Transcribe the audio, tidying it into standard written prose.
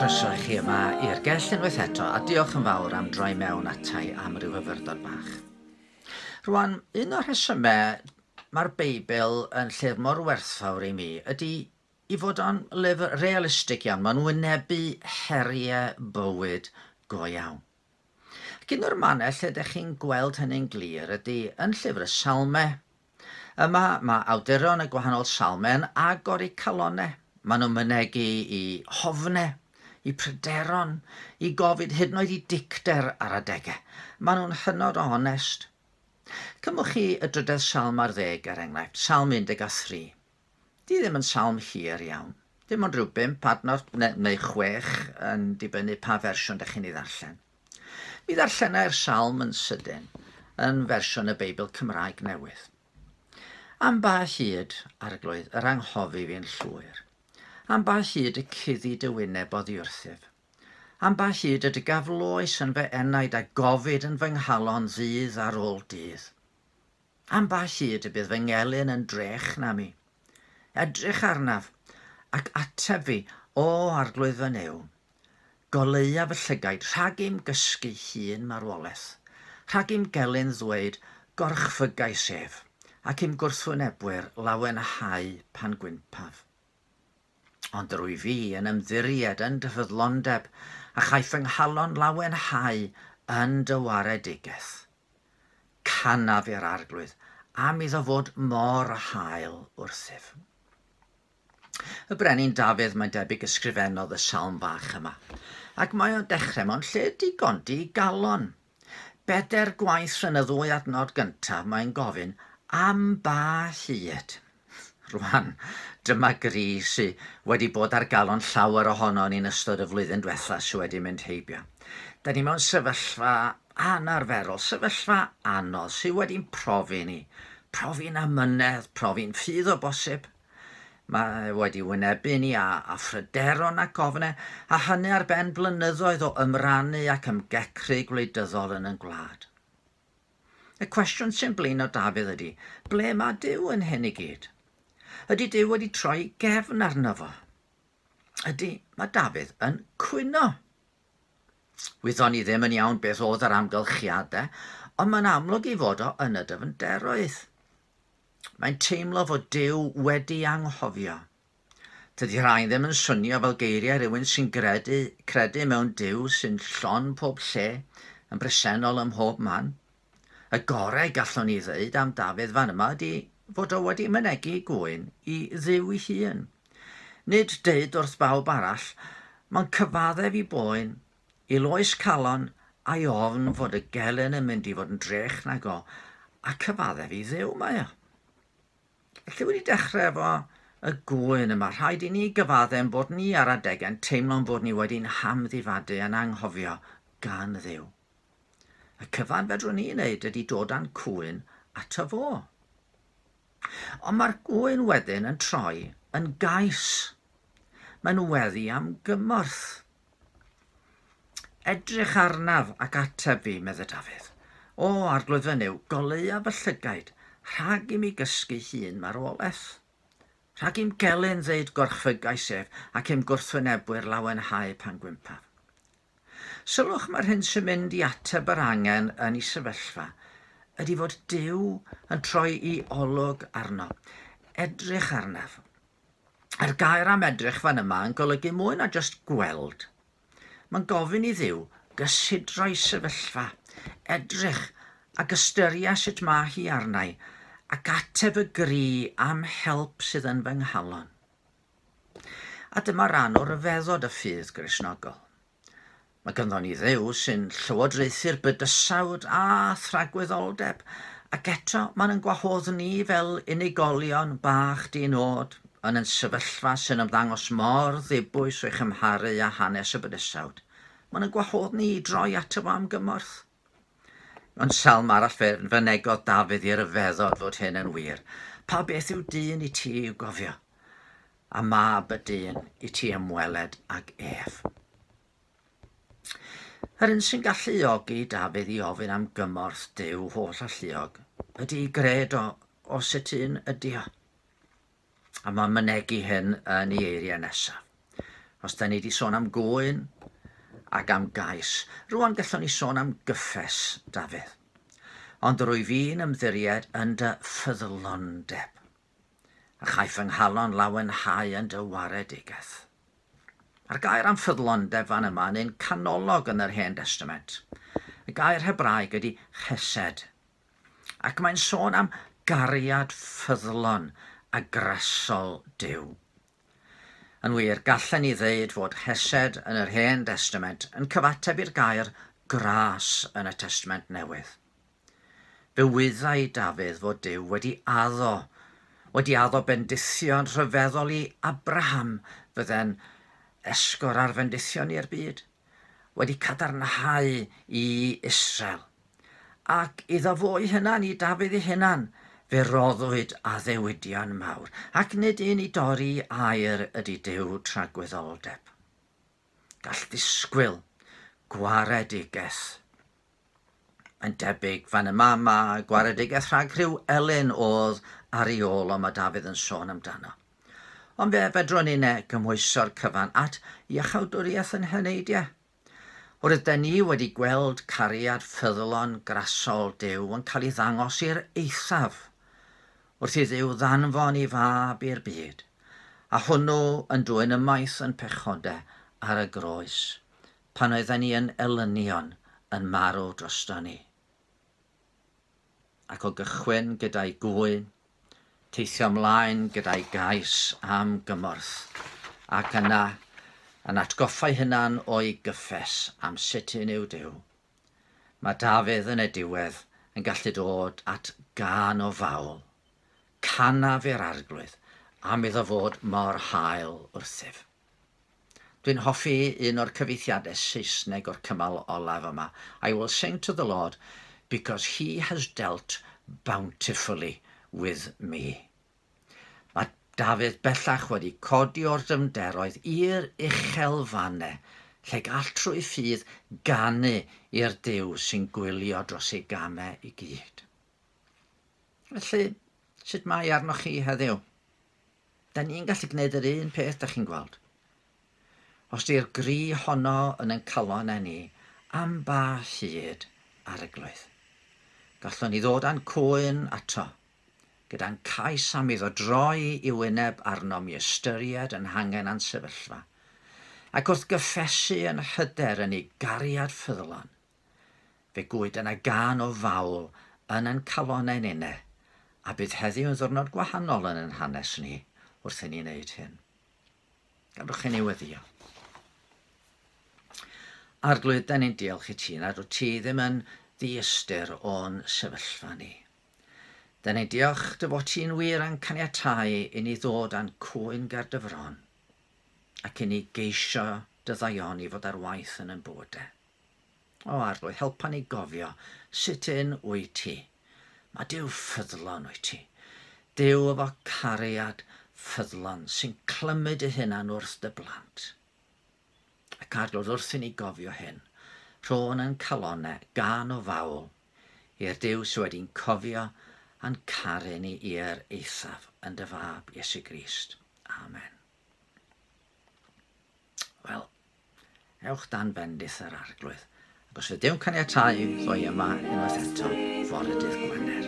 Croeso i chi yma i'r gell unwaith eto, a diolch yn fawr am droi mewn atai am ryw fyfyrdod bach. Rwan, un o'r rhesymau mae'r Beibl yn llyfr mor werthfawr i mi ydy i fod o'n lyfr realistig iawn. Mae'n wynebu heriau bywyd go iawn. Ac un o'r mannau lle ydych chi'n gweld hynny'n glir ydy yn llyfr y Salmau. Yma mae awduron y gwahanol salmau yn agor eu calonnau. Maen nhw'n mynegi i hofnau, i pryderon, i gofid, hyd yn oed i dicter ar adegau. Maen nhw'n hynod o onest. Cymwch chi y drydedd salm ar ddeg, er enghraifft, Salm 13. Di ddim yn salm hir iawn. Dim ond rhyw bump adnod neu, neu chwech yn dibynnu pa fersiwn ydych chi'n ei ddarllen. Mi ddarllenai'r salm yn sydyn yn fersiwn y Beibl Cymraeg Newydd. Am ba hyd, Arglwydd, yr anghofi fi'n llwyr? Am ba hyd y cuddi dy wyneb oddi wrthyf? Am ba hyd y dygaf loes yn fy enaid a gofid yn fy nghalon ddydd ar ôl dydd? Am ba hyd y bydd fy ngelyn yn drech na mi? Edrych arnaf, ac ateb fi, O Arglwydd fy Nuw. Goleua fy llygaid rhag i'm gysgu hun marwolaeth, rhag i'm gelyn ddweud, Gorchfygais ef, ac i'm gwrthwynebwyr lawenhau pan gwympaf. Ond yr wyf fi yn ymddiried yn dy ffyddlondeb, a chaiff fy nghalon lawenhau yn dy waredigaeth. Canaf i'r Arglwydd am iddo fod mor hael wrthyf. Y brenin Dafydd, mae'n debyg, ysgrifennodd y salm fach yma. Ac mae o'n dechrau mewn lle digon digalon. Bedair gwaith yn y ddwy adnod gyntaf mae'n gofyn am ba hyd. Rwan, dyma gri sy wedi bod ar galon llawer ohonon ni'n ystod y flwyddyn diwetha sy wedi mynd heibio. Da ni mewn sefyllfa anarferol, sefyllfa anodd sy wedi'n profi ni. Profi'n amynedd, profi'n ffydd o bosib. Mae wedi wynebu ni â, â phryderon ac ofne, a hynny ar ben blynyddoedd o ymrannu ac ymgecru gwleidyddol yn ein gwlad. Y cwestiwn sy'n blino Dafydd ydy, ble mae Duw yn hyn i gyd? Ydy Duw wedi troi gefn arno fo? Ydy, mae Dafydd yn cwyno. Wyddon ni ddim yn iawn beth oedd yr amgylchiadau, ond mae'n amlwg ei fod o yn y dyfnderoedd. Mae'n teimlo fod Duw wedi anghofio. Tydi rhain ddim yn swnio fel geiriau rhywun sy'n gredu, credu mewn Duw sy'n llon pob lle, yn bresennol ym mhob man. Y gorau gallwn ni ddeud am Dafydd fan yma ydy fod o wedi mynegi gŵyn i Dduw ei hun. Nid deud wrth bawb arall, mae'n cyfaddef i boen, i loes calon a'i ofn fod y gelyn yn mynd i fod yn drech nag o, a cyfaddef i Dduw mae o. Felly wedi dechrau efo y gŵyn yma, rhaid i ni gyfadde'n bod ni ar adegau'n teimlo'n bod ni wedi'n hamddifadu a'n anghofio gan Dduw. Y cyfan fedrwn ni wneud ydy dod â'n cŵyn ato fo. Ond mae'r gŵyn wedyn yn troi yn gais. Mae'n weddi am gymorth. Edrych arnaf ac ateb fi, medde Dafydd. O, Arglwydd fy Nuw, goleua fy llygaid, rhag i mi gysgu hun marwolaeth. Rhag i'm gelyn ddeud gorchfygais ef, ac i'm gwrthwynebwyr lawenhau pan gwympaf. Sylwch mae'r hyn sy'n mynd i ateb yr angen yn ei sefyllfa ydy fod Duw yn troi i olwg arno. Edrych arnaf. A'r gair am edrych fan yma yn golygu mwy na jyst gweld. Mae'n gofyn i Dduw gysidro'i sefyllfa, edrych ac ystyria sut mae hi arnai, ac ateb y gri am help sydd yn fy nghalon. A dyma ran o ryfeddod y ffydd Gristnogol. Mae ganddo ni Dduw sy'n llywodraethu'r bydysawd a thragwyddoldeb, ac eto mae'n yn gwahodd ni fel unigolion bach di-nod yn yn sefyllfa sy'n ymddangos mor ddibwys o'i chymharu â hanes y bydysawd. Mae'n yn gwahodd ni i droi ato fo am gymorth. Mewn salm arall fe fynegodd Dafydd i ryfeddod fod hyn yn wir. Pa beth yw dyn i ti i'w gofio? a mab y dyn i ti ymweled ag ef. Yr un sy'n galluogi Dafydd i ofyn am gymorth Duw holl alluog ydy i gred o, o sut un ydy o. A mae'n mynegi hyn yn ei eiriau nesaf. Os da ni wedi sôn am gŵyn ac am gais, rwan gallwn ni sôn am gyffes, Dafydd. Ond rwy fi'n ymddiried yn dy ffyddlondeb, a chaiff fy nghalon lawenhau yn dy waredigaeth. A'r gair am ffyddlondeb fan yma yn un canolog yn yr Hen Destament. Y gair Hebraeg ydy chesed, ac mae'n sôn am gariad ffyddlon a grasol Duw. Yn wir, gallen ni ddeud fod hesed yn yr Hen Destament yn cyfateb i'r gair gras yn y Testament Newydd. Fe wyddai Dafydd fod Duw wedi addo bendithion rhyfeddol i Abraham fydde'n esgor ar fendithion i'r byd, wedi cadarnhau i Israel. Ac iddo fo'i hunan, i Dafydd ei hunan, fe roddwyd addewidion mawr, ac nid un i dorri air ydy Duw tragwyddoldeb. Gall ddisgwyl gwaredigaeth. Yn debyg fan yma mae gwaredigaeth rhag rhyw elyn oedd ar ei ôl o mae Dafydd yn sôn amdano. Ond fe fedrwn ni gymhwyso'r cyfan at iachawdwriaeth yn heneidiau. Oherwydd ni wedi gweld cariad ffyddlon grasol Duw yn cael ei ddangos i'r eithaf, wrth i Dduw ddanfon ei fab i'r byd, a hwnnw yn dwyn ymaith yn pechodau ar y groes, pan oedden ni yn elynion yn marw drosto ni. Ac o gychwyn gyda'i gŵyn, teithio ymlaen gyda'i gais am gymorth, ac yna yn atgoffa'i hunan o'i gyffes am sut un yw Duw. Mae Dafydd yn y diwedd yn gallu dod at gân o fawl. Canaf i'r Arglwydd am iddo fod mor hael wrthyf. Dwi'n hoffi un o'r cyfieithiadau Saesneg o'r cymal olaf yma. I will sing to the Lord because he has dealt bountifully with me. Mae Dafydd bellach wedi codi o'r dyfnderoedd i'r uchelfannau, lle gall trwy ffydd ganu i'r Duw sy'n gwylio dros ei gamau i gyd. Felly, sut mae arnoch chi heddiw? Da ni'n gallu gwneud yr un peth, da chi'n gweld. Os di'r gri honno yn ein calonnau ni, am ba hyd, Arglwydd? Gallwn ni ddod â'n cwyn ato, gyda'n cais am iddo droi i wyneb arnom i ystyried yn hangen a'n sefyllfa, ac wrth gyffesu yn hyder yn ei gariad ffyddlon, fe gwyd yna gân o fawl yn ein calonnau ninne, a bydd heddiw yn ddiwrnod gwahanol yn ein hanes ni wrth i ni wneud hyn. Gadwch i ni weddïo. Arglwydd, da ni'n diolch i ti nad wyt ti ddim yn ddiystyr o'n sefyllfa ni. Da ni'n diolch dy fod ti'n wir yn caniatáu i ni ddod â'n cwyn ger dy fron ac i ni geisio dy ddaioni fod ar waith yn ein bywydau. O Arglwydd, helpa ni gofio sut un wyt ti. Mae Duw ffyddlon wyt ti. Duw efo cariad ffyddlon sy'n clymu dy hunan wrth dy blant. Ac Arglwydd, wrth i ni gofio hyn, rhôn yn calonnau gân o fawl i'r Duw sydd wedi'n cofio a'n caru ni i'r eithaf yn dy fab Iesu Grist. Amen. Wel, ewch dan bendith yr Arglwydd. Ac os fydd Duw'n caniatáu, ddoi yma unwaith eto fore dydd Gwener.